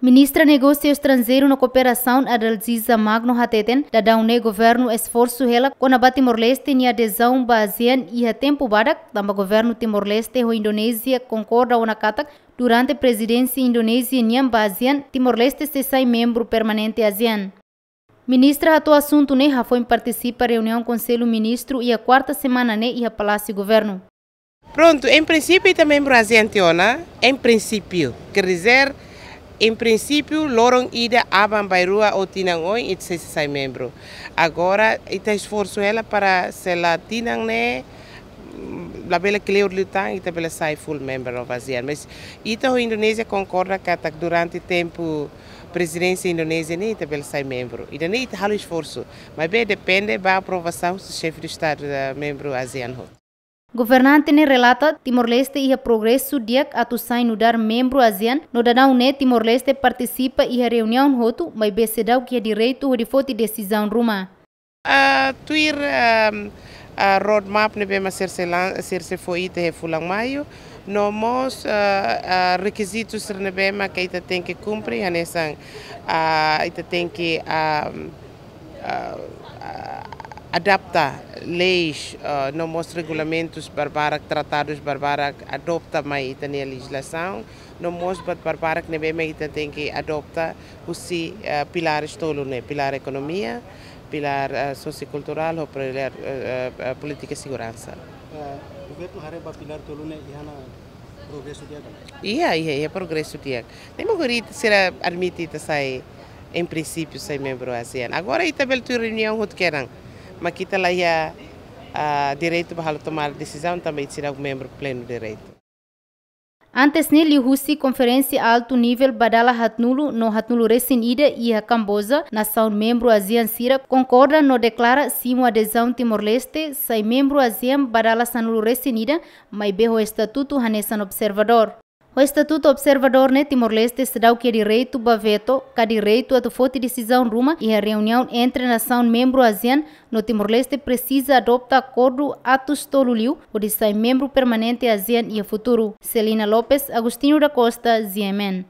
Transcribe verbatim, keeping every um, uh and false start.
Ministra Negósiu Estranjeiru no Kooperasaun, Adalgisa Magno, hateten daudaun ne'e governu esforsu hela kona-ba Timor-Leste nia adezaun ba ASEAN iha tempu badak, tanba governu Timor-Leste ho Indonézia konkorda ona katak durante prezidénsia Indonézia nian ba ASEAN, Timor-Leste sei sai membru permanente ASEAN. Ministra hato'o asuntu ne'e hafoin partisipa reuniaun Konsellu Ministru iha kuarta semana ne'e iha Palásiu Governu. Prontu, em princípio, ita membru ASEAN tiha ona, em princípio, quer dizer, em princípio, loron ida, aban-bainrua ou tinan oin, ita sei sai membru. Agora, ita esforsu hela para se la tinan ne'e, mm, labele kleur liután, ita bele sai full member of ASEAN. Mas ita ho Indonézia konkorda katak durante tempu prezidénsia Indonézia ne'e ita bele sai membru. Ida-ne'e ita halo esforsu. Maibé depende ba aprovasaun husi xefe de Estadu da membru ASEAN hotu. Governante ne'e relata Timor-Leste iha progresu di'ak atu sai nu'udar membru ASEAN, no daudaun ne'e Timor-Leste partisipa iha reuniaun hotu, maibé seidauk iha direitu hodi foti desizaun ruma. Ah, tuir, ah, ah, roadmap ne'ebé mak sira sei lan-, sira sei fó ita iha fulan Maiu, no mós, ah, ah, rekizitus sira ne'ebé mak ita tenke kumpre, hanesan, ah, ita tenke, ah, ah, ah, adapta leis, ah, no mós regulamentus barbarak, tratadus barbarak, adota mai ita-nia lejizlasaun, no mós buat barbarak ne'ebé mak ita tenke adota husi, ah, pilares tolu ne'e, pilár ekonomia, pilár, ah, sosiokulturál, ho pilár, ah, ah, ah, polítika seguransa. Ah, governu haree ba pilár tolu ne'e iha ona progresu di'ak ka lae? Iha, iha, iha progresu di'ak. Ne'e mak agora ita sira admite ita sai, em princípio, sai membru ASEAN. Agora ita bele tuir reuniaun hotu kedan. Mas ita la iha, ah, direitu ba halo tomada desizaun, tanba ita seidauk membru plenu direitu. Antes ne'e, liuhusi konferénsia altu nivel ba dala haatnulu no haatnulu-resin-ida iha Kamboja, nasaun membru ASEAN sira konkorda no deklara simu adezaun Timor-Leste sai membru ASEAN ba dala sanulu-resin-ida, maibé ho estatutu hanesan observadór. Ho estatutu observadór ne'e Timor-Leste seidauk iha direitu ba veto, ka direitu atu foti desizaun ruma iha reuniaun entre nasaun membru ASEAN, no Timor-Leste presiza adota akordu atus tolu liu hodi sai membru permanente ASEAN iha futuru. Celina Lopes, Agostinho da Costa, G M N.